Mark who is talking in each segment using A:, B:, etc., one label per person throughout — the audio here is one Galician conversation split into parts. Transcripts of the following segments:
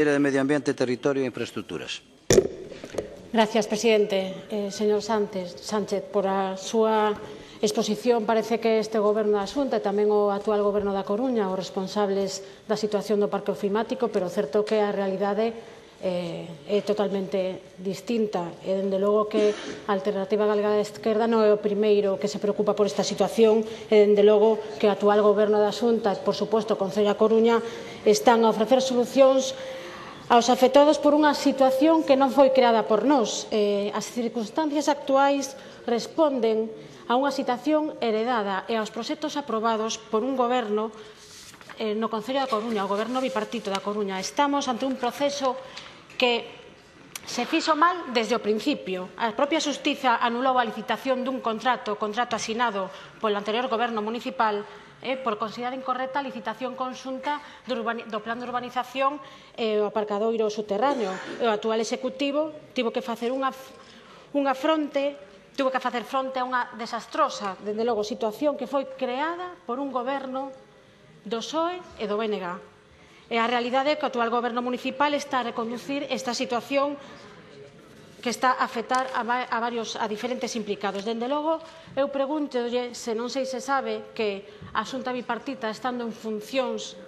A: de Medio Ambiente, Territorio e Infraestructuras.
B: Gracias, presidente. Señor Sánchez, por a súa exposición parece que este Goberno da Xunta e tamén o actual Goberno da Coruña os responsables da situación do parque climático, pero o certo que a realidade é totalmente distinta e, dende logo, que a Alternativa Galega de Esquerda non é o primeiro que se preocupa por esta situación e, dende logo, que o actual Goberno da Xunta e, por suposto, o Concello da Coruña están a ofrecer solucións aos afectados por unha situación que non foi creada por nós. As circunstancias actuais responden a unha situación heredada e aos proxectos aprobados por un goberno no Concello da Coruña, o goberno bipartito da Coruña. Estamos ante un proceso que se fixo mal desde o principio. A propia Xustiza anulou a licitación dun contrato asinado polo anterior goberno municipal por considerar incorrecta a licitación conxunta do plan de urbanización e o aparcadoiro subterráneo. O actual executivo tivo que facer fronte a unha desastrosa, dende logo, situación que foi creada por un goberno do PSOE e do BNG. E a realidade é que o actual goberno municipal está a reconducir esta situación que está a afectar a diferentes implicados. Dende logo, eu pregúntolle se non sei se sabe que a Xunta bipartita, estando en funcións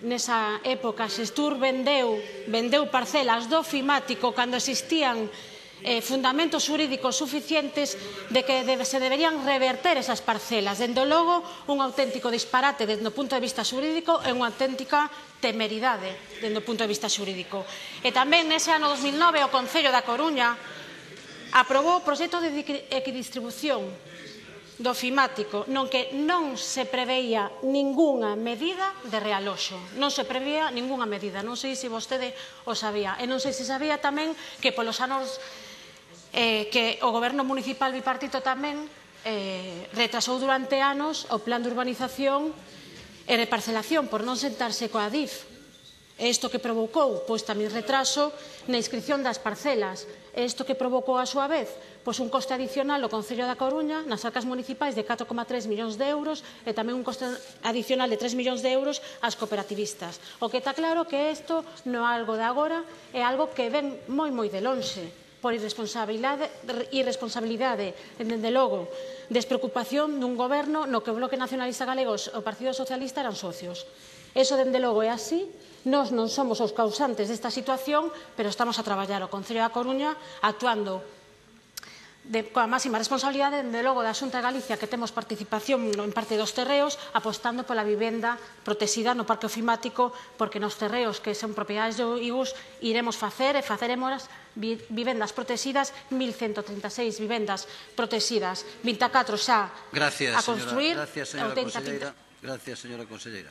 B: nesa época, Xestur vendeu parcelas do Fimático cando existían fundamentos xurídicos suficientes de que se deberían reverter esas parcelas. Dende logo, un auténtico disparate desde o punto de vista xurídico e unha auténtica temeridade desde o punto de vista xurídico. E tamén nese ano 2009 o Concello da Coruña aprobou o proxecto de equidistribución do Fimático, non que non se preveía ningunha medida de realoxo. Non se preveía ningunha medida. Non sei se vostede o sabía. E non sei se sabía tamén que polos anos que o goberno municipal bipartito tamén retrasou durante anos o plan de urbanización e reparcelación por non sentarse coa ADIF. E isto que provocou? Pois tamén retraso na inscripción das parcelas. E isto que provocou a súa vez? Pois un coste adicional ao Concello da Coruña nas arcas municipais de 4,3 millóns de euros e tamén un coste adicional de 3 millóns de euros ás cooperativistas. O que está claro que isto non é algo de agora, é algo que ven moi de lonxe, por irresponsabilidade, dende logo, despreocupación dun goberno no que o Bloque Nacionalista Galego e o Partido Socialista eran socios. Eso, dende logo, é así. Nós non somos os causantes desta situación, pero estamos a traballar o Concello da Coruña actuando coa máxima responsabilidade, dende logo, da Xunta de Galicia, que temos participación en parte dos terreos, apostando pola vivenda protexida no parque ofimático, porque nos terreos que son propiedades do IGUS iremos facer e faceremos vivendas protegidas, 1.136 vivendas protegidas, 24 xa a construir.
A: Gracias, señora conselleira.